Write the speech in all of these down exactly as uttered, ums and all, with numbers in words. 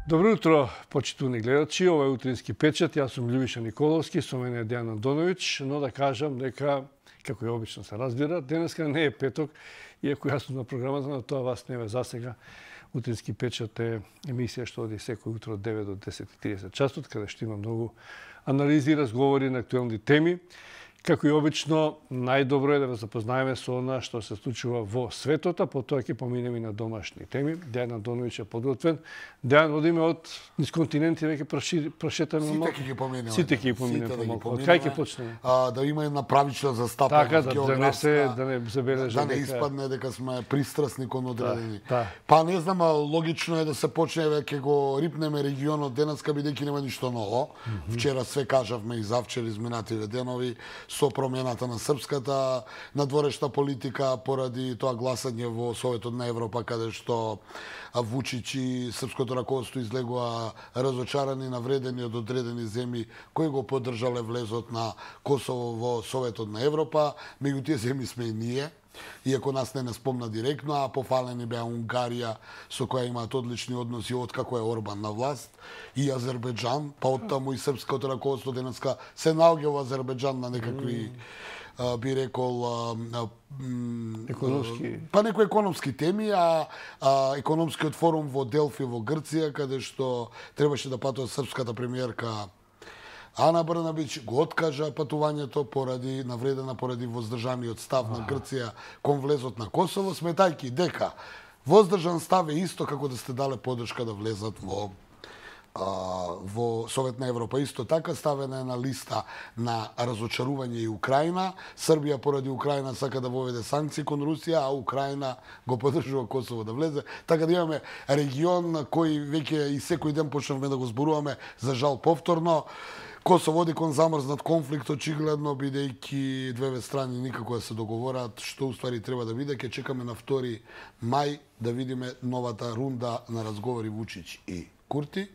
Добро утро, почитувани гледачи. Ова е утрински печат. Јас сум Љубиша Николовски, со мене е Дејан Андоновиќ, но да кажам дека, како и обично се разбира, денеска не е петок, иако јас сум на програмата, но тоа вас не ве засега. Утрински печат е емисија што оди секој утро од девет до десет и тридесет часот, каде што има многу анализи и разговори на актуелни теми. Како и обично, најдобро е да ве запознаеме со она што се случува во светот, а потоа ќе поминеме и на домашни теми. Дејан Андоновиќ е подготвен. Дејан, одиме од низ континенти, веќе прошетаме Сите малку. ќе ги поминеме. Сите ќе ги поминеме малку. Од кај ќе почнеме? А, да има една правична застапеност, така, да, географска, да не се, да не забележа да не дека... испадне дека сме пристрасни кон одредени. Да, да. Па не знам, логично е да се почне веќе го рипнеме регионот денеска, бидејќи нема ништо ново. Mm -hmm. Вчера све кажавме и завчера изминативе денови со промената на српската надворешна политика поради тоа гласање во Советот на Европа, каде што Вучич и српското раководство излегува разочарани, навредени од одредени земји кои го поддржале влезот на Косово во Советот на Европа. Меѓу тие земји сме и ние, иако нас не не спомна директно, а пофалени беа Унгарија, со која имаат одлични односи од како е Орбан на власт, и Азербејџан, па оттаму и српското раководство денеска се наоѓа во Азербејџан на некакви Uh, би рекол uh, uh, економски, па некои економски теми, а, а економскиот форум во Делфи во Грција, каде што требаше да патува српската премиерка Ана Брнабич, го откажа патувањето поради навредена поради воздржаниот став на Грција кон влезот на Косово, сметајќи дека воздржан став е исто како да сте дале поддршка да влезат во во Совет на Европа. Исто така ставена е на листа на разочарување и Украина. Србија поради Украина сака да воведе санкции кон Русија, а Украина го поддржува Косово да влезе. Така да имаме регион кој веќе и секој ден почнавме да го зборуваме, за жал повторно. Косово оди кон замрзнат конфликт, очигледно, бидејќи двете страни никако да се договорат што уствари треба да биде. Ќе чекаме на втори мај да видиме новата рунда на разговори Вучич и Курти,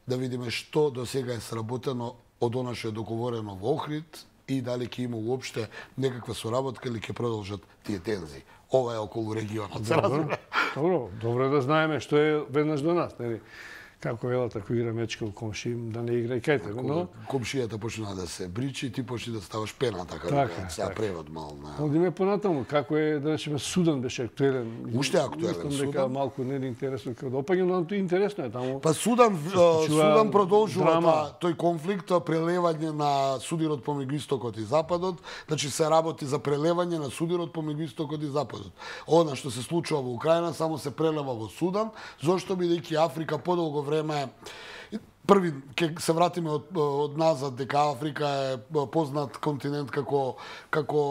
да видиме што до сега е сработено од она што е договорено во Охрид и дали ќе има уопште некаква соработка или ќе продолжат тие тензии. Ова е околу регионот. Добро, добро, добро да знаеме што е веднаш до нас, нели? Како велат, ако игра мечка у комши, да не игра и кај тебе, но... Комшијата почна да се бричи, ти почни да ставаш пена, така, така да се превод мал на... Одиме понатаму, како е, да речеме, Судан беше актуелен. Уште актуелен Судан. Дека малку не е интересно како допаѓа, но тоа интересно е таму. Па Судан, Судан продолжува драма. тој конфликт, прелевање на судирот помеѓу истокот и западот, значи се работи за прелевање на судирот помеѓу истокот и западот. Она што се случува во Украина само се прелева во Судан, зошто бидејќи Африка подолго време први ќе се вратиме од, од назад дека Африка е познат континент како како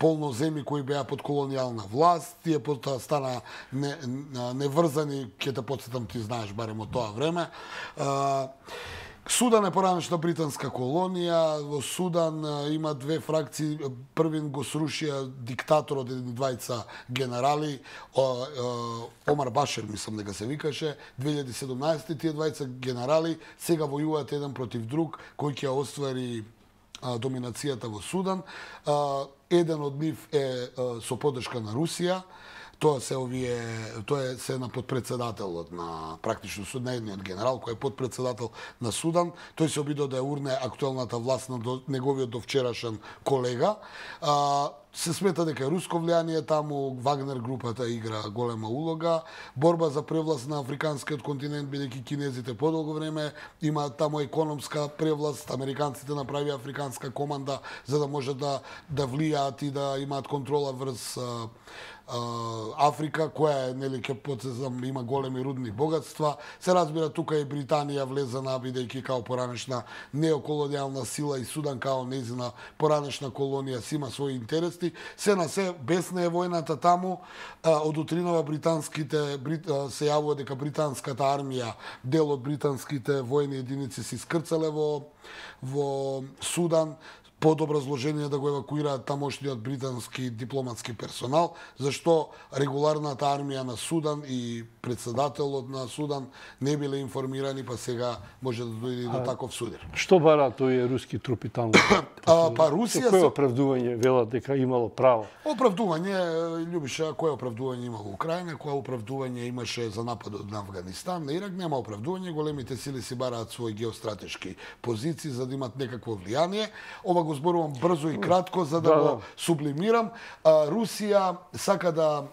полно земји кои беа под колонијална власт, тие потоа стана не, неврзани, ќе те потсетам, ти знаеш барем од тоа време. Судан е поранешна британска колонија. Во Судан има две фракции. Првин го срушија диктаторот, еден двајца генерали, Омар Башер, мислам дека се викаше, две илјади и седумнаесета. Тие двајца генерали сега војуваат еден против друг, кој ќе оствари доминацијата во Судан. Еден од нив е со поддршка на Русија. Тоа се овие, тоа е се на подпредседателот на практично судниот генерал кој е подпредседател на Судан. Тој се обидува да ја урне актуелната власт на до, неговиот довчерашен колега. А, се смета дека е руско влијание таму, Вагнер групата игра голема улога. Борба за превласт на африканскиот континент, бидејќи кинезите подолго време имаат таму економска превласт, американците направија африканска команда за да можат да да влијаат и да имаат контрола врз Африка, која е, нели, ќе потсетам, има големи рудни богатства. Се разбира, тука и Британија влезена, бидејќи као поранешна неоколонијална сила и Судан као нејзина поранешна колонија си има своји интереси. Се на се, бесна е војната таму. Од утринава британските се јавува дека британската армија, дел од британските војни единици се искрцале во во Судан. под образложение да го евакуираат тамошниот британски дипломатски персонал, зашто регуларната армија на Судан и председателот на Судан не биле информирани, па сега може да дојде и до таков судир. Што бара тој руски трупи таму? А, па Русија Кој оправдување велат дека имало право? Оправдување, Љубиша, кое оправдување имало Украина, кое оправдување имаше за нападот на Афганистан, на Ирак нема оправдување, големите сили си бараат своји геостратешки позиции за да имат некакво влијание. Ова го зборувам брзо и кратко за да, да го да. сублимирам. А, Русија сака да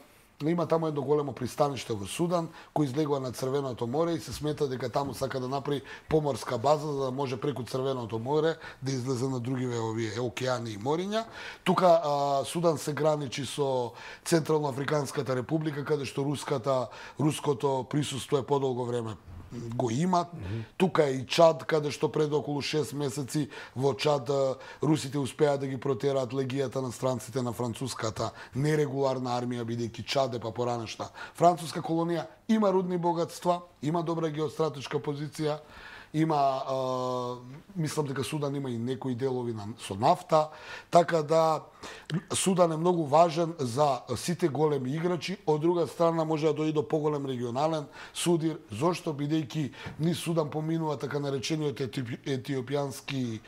има таму едно големо пристаниште во Судан, кој излегува на Црвеното море и се смета дека таму сака да направи поморска база за да може преку Црвеното море да излезе на другиве овие океани и мориња. Тука а, Судан се граничи со Централно Африканската република, каде што руската руското присуство е подолго време го имат. Mm -hmm. Тука е и Чад, каде што пред околу шест месеци во Чад русите успеа да ги протераат легијата на странците на француската нерегуларна армија, бидејќи Чад е па поранешна француска колонија. Има рудни богатства, има добра геостратешка позиција, има, а, мислам дека Судан има и некои делови на, со нафта, така да Судан е многу важен за сите големи играчи. Од друга страна може да дојде до поголем регионален судир, зошто бидејќи низ Судан поминува така наречениот етиопијански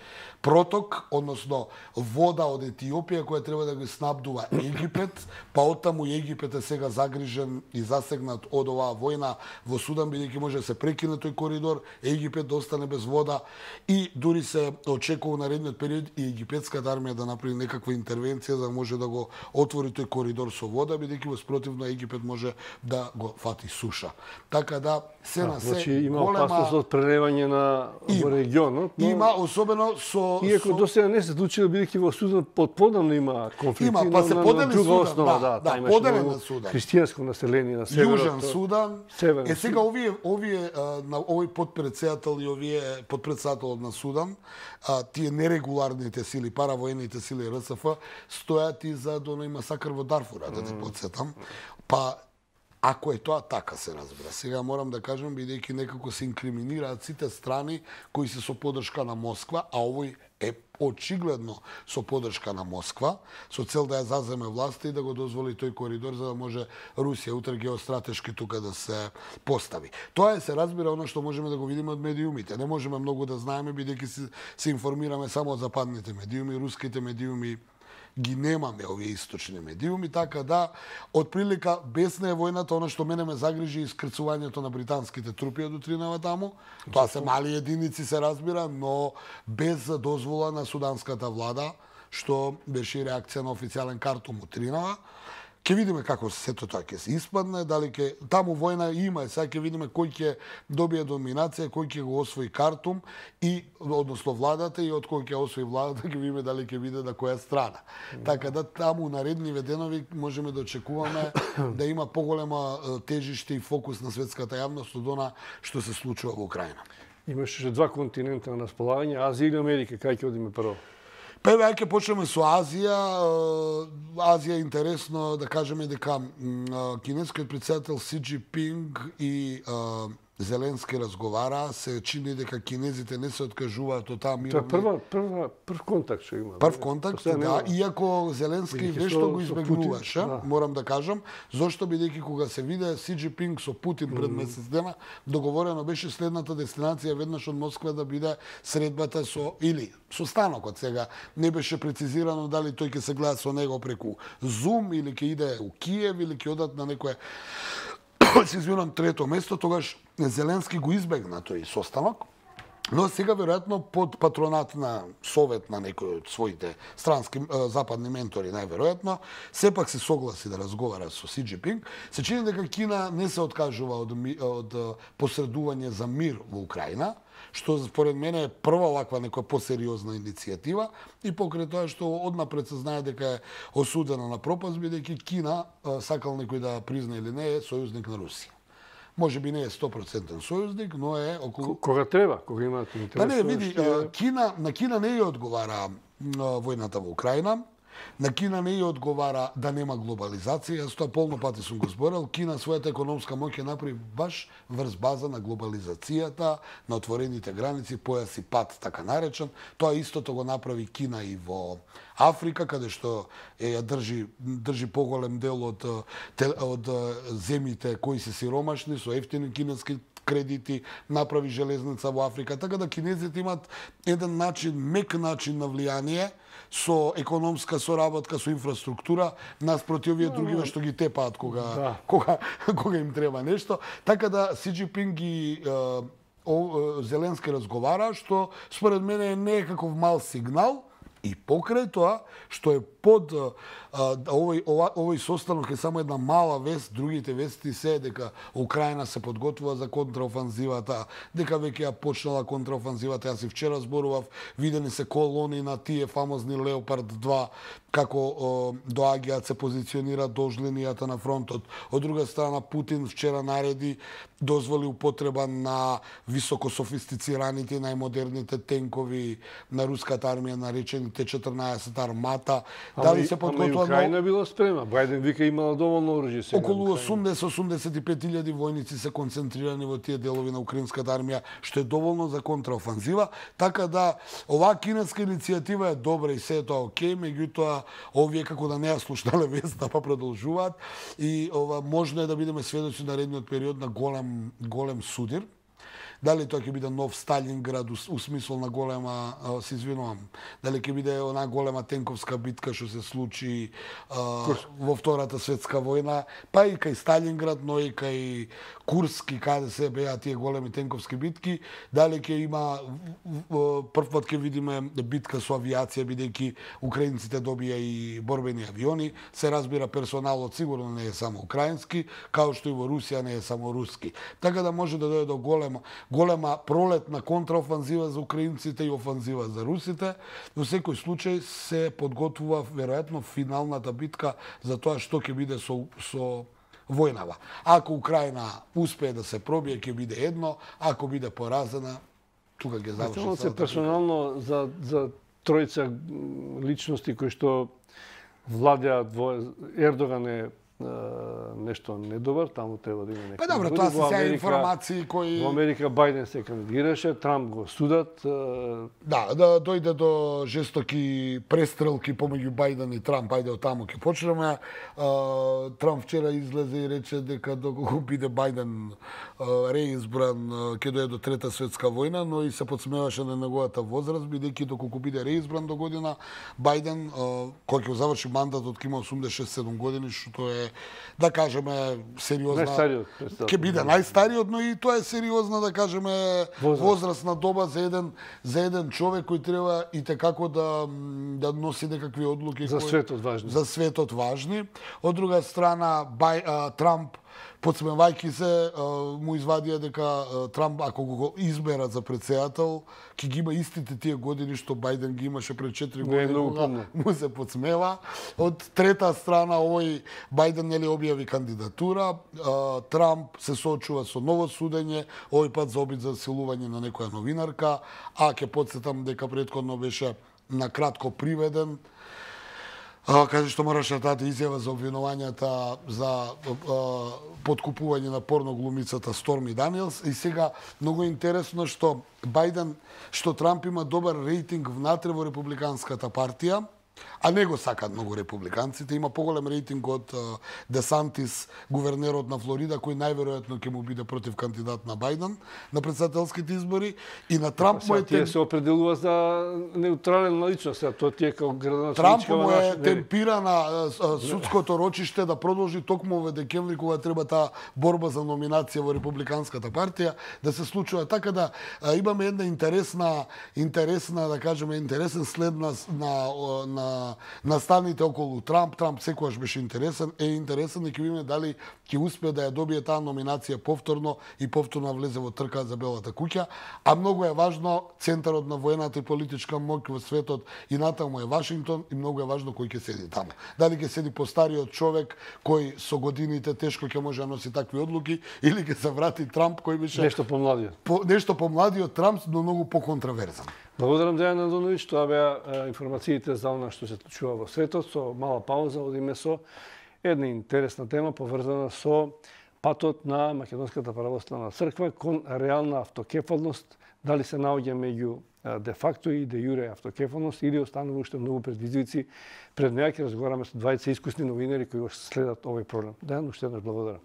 проток, односно вода од Етиопија која треба да го снабдува Египет, па оттаму Египет е сега загрижен и засегнат од оваа војна во Судан, бидејќи може да се прекине тој коридор, Египет да остане без вода и дури се очекува наредниот период и египетската армија да направи некаква интервенција за да може да го отвори тој коридор со вода, бидејќи во спротивно Египет може да го фати суша. Така да се а, на се значи, има голема... опасност од прелевање на во регионот, но... Има, особено со... Иако со... до сега не се случило, бидејќи во Судан подподамно има конфликти, има, па се на, подели на друга Судан, основа, да, да, да, поделен на Судан. Христијанско население на северот. Јужен Судан. Северот. Е сега овие овие на овој подпредседател и овие подпредседателот на Судан, а, тие нерегуларните сили, паравоените сили Р С Ф стојат и за оној масакр во Дарфура, да те потсетам. Па ако е тоа така се разбира. Сега морам да кажам, бидејќи некако се инкриминираат сите страни кои се со поддршка на Москва, а овој е очигледно со поддршка на Москва, со цел да ја заземе власта и да го дозволи тој коридор за да може Русија утре геостратешки тука да се постави. Тоа е се разбира оно што можеме да го видиме од медиумите. Не можеме многу да знаеме бидејќи се, се информираме само од западните медиуми, руските медиуми ги немаме овие источни медиуми, така да од прилика бесна е војната, оно што мене ме загрижи искрцувањето на британските трупи од утринава таму. Тоа се мали единици се разбира, но без дозвола на суданската влада, што беше реакција на официјален Картум утринава. Ке видиме како сето тоа ќе се испадне, дали ќе таму војна има, сега ќе видиме кој ќе добие доминација, кој ќе го освои Картум и односно владата и од кој ќе освои владата, ќе видиме дали ќе биде на која страна. Mm. Така да таму наредниве денови можеме да очекуваме да има поголема тежиште и фокус на светската јавност од она што се случува во Украина. Имаше два континента на располагање, Азија или Америка, кај ќе одиме прво? Прво, ајде ќе почнеме со Азија. Азија е интересно да кажеме дека кинескиот председател Си Џинпинг и Зеленски разговара, се чини дека кинезите не се откажуваат од таа мировна... Тоа прва, прва, прв контакт што има. Прв контакт, да, иако Зеленски вешто го избегнуваше, да. Морам да кажам, зошто бидејќи кога се виде Си Џинпинг со Путин пред месец дена, договорено беше следната дестинација веднаш од Москва да биде средбата со или со станокот. Сега не беше прецизирано дали тој ќе се гледа со него преку Зум или ќе иде у Киев или ќе одат на некое се извинувам трето место, тогаш Зеленски го избегна тој состанок, но сега веројатно под патронат на совет на некој од своите странски западни ментори најверојатно, сепак се согласи да разговара со Си Џинпинг. Се чини дека Кина не се откажува од, од посредување за мир во Украина, што според мене е прва ваква некоја посериозна иницијатива и покрај тоа што однапред се знае дека е осудена на пропаст, бидејќи Кина, сакал некој да призна или не, е сојузник на Русија. Може би не е сто проценти сојузник, но е околу... Кога треба, кога имаат интерес... Па не, види, Кина, на Кина не ја одговара војната во Украина. На Кина не ја одговара да нема глобализација, јас тоа полно пати сум го зборил. Кина својата економска моќ ја направи баш врз база на глобализацијата, на отворените граници, појас и пат, така наречен. Тоа истото го направи Кина и во Африка, каде што е, ја држи, држи поголем дел од, од земјите кои се сиромашни, со ефтини кинески кредити, направи железница во Африка. Така да кинезите имат еден начин, мек начин на влијание, со економска соработка, со инфраструктура, наспроти овие другиве што ги тепаат кога, да. кога, кога им треба нешто. Така да Си Џинпинг ги е, о, Зеленски разговара, што според мене не е каков мал сигнал, и покрај тоа, што е под а, овој, ова, овој состанок е само една мала вест, другите вести се дека Украина се подготвува за контраофанзивата, дека веќе ја почнала контраофанзивата. Јас и вчера зборував, видени се колони на тие фамозни Леопард два, како о, доаѓаат, се позиционираат дож линијата на фронтот. Од друга страна, Путин вчера нареди, дозволи употреба на високо софистицираните, најмодерните тенкови на руската армија, наречени Т четрнаесет армата. Дали се подготвува? Ама Украина била спремна. Бајден вика имала доволно оружје сега. Околу осумдесет до осумдесет и пет илјади војници се концентрирани во тие делови на украинската армија, што е доволно за контраофанзива. Така да оваа кинеска иницијатива е добра и се е тоа окей, меѓутоа овие како да не ја слушнале веста па продолжуваат и ова можно е да бидеме сведоци на наредниот период на голем голем судир. Дали тоа ќе биде нов Сталинград у смисол на голема, се извинувам, дали ќе биде она голема тенковска битка што се случи а, во Втората светска војна, па и кај Сталинград, но и кај Курск и каде се беа тие големи тенковски битки, дали ќе има прв пат ќе видиме битка со авиација, бидејќи украинците добија и борбени авиони, се разбира персоналот сигурно не е само украински, као што и во Русија не е само руски. Така да може да дојде до голема голема пролетна контраофанзива за украинците и офанзива за русите. Во секој случај се подготвува веројатно финалната битка за тоа што ќе биде со, со војнава. Ако Украина успее да се пробие, ќе биде едно, ако биде поразена, тука ќе заврши. Се персонално за, за тројца личности кои што владеат во Ердоган е нешто недобар, таму треба да има некој. Па добро, тоа се сега информации кои во Америка Бајден се кандидираше, Трамп го судат. Да, да дојде до жестоки престрелки помеѓу Бајден и Трамп, ајде од таму ќе почнеме. Трамп вчера излезе и рече дека доколку биде Бајден реизбран ќе дојде до Трета светска војна, но и се подсмеваше на неговата возраст, бидејќи доколку биде реизбран до година, Бајден кој ќе заврши мандатот ќе има осумдесет и седум години, што е, да кажеме, сериозна... Најстариот. Ќе биде најстариот, но и тоа е сериозна, да кажеме, возраст. возрастна доба за еден, за еден човек кој треба и текако да, да носи некакви одлуки. За кои, светот важни. За светот важни. Од друга страна, Бај, а, Трамп, подсмевајќи се, му извадија дека Трамп, ако го изберат за председател, ќе ги има истите тие години што Бајден ги имаше пред четири години, кога му се подсмева. Од трета страна, овој Бајден нели објави кандидатура, Трамп се соочува со ново судење, овој пат за обид за силување на некоја новинарка, а ќе потсетам дека претходно беше на кратко приведен, каде што мораше да даде изјава за обвинувањата за а, подкупување на порноглумицата Сторми Даниелс. И сега многу интересно што Бајден, што Трамп има добар рейтинг внатре во републиканската партија, а не го сакаат многу републиканците. Има поголем рейтинг од Де Сантис, гувернерот на Флорида, кој најверојатно ќе му биде против кандидат на Бајден на председателските избори. И на Трамп му е... Тие се определува за неутрална личност, а тоа тие како градоначелничка... Трамп му е темпирана судското рочиште да продолжи токму во декември, кога треба таа борба за номинација во републиканската партија, да се случува. Така да имаме една интересна, интересна, да кажеме, интересен след на, на, на наставните околу Трамп. Трамп секогаш беше интересен, е интересен и ќе видиме дали ќе успее да ја добие таа номинација повторно и повторно влезе во трка за Белата куќа. А многу е важно центарот на воената и политичка моќ во светот и натаму е Вашингтон и многу е важно кој ќе седи таму. Дали ќе седи постариот човек кој со годините тешко ќе може да носи такви одлуки или ќе се врати Трамп кој беше нешто помладиот. По, нешто помладиот Трамп, но многу поконтраверзан. Благодарам, Дејан Андоновиќ. Тоа беа информациите за она што се случува во светот. Со мала пауза одиме со една интересна тема поврзана со патот на Македонската православна црква кон реална автокефалност. Дали се наоѓа меѓу де факто и де јуре автокефалност или останува уште многу предизвици пред неа. Ќе разговараме со двајца искусни новинари кои го следат овој проблем. Дејан, уште еднаш благодарам.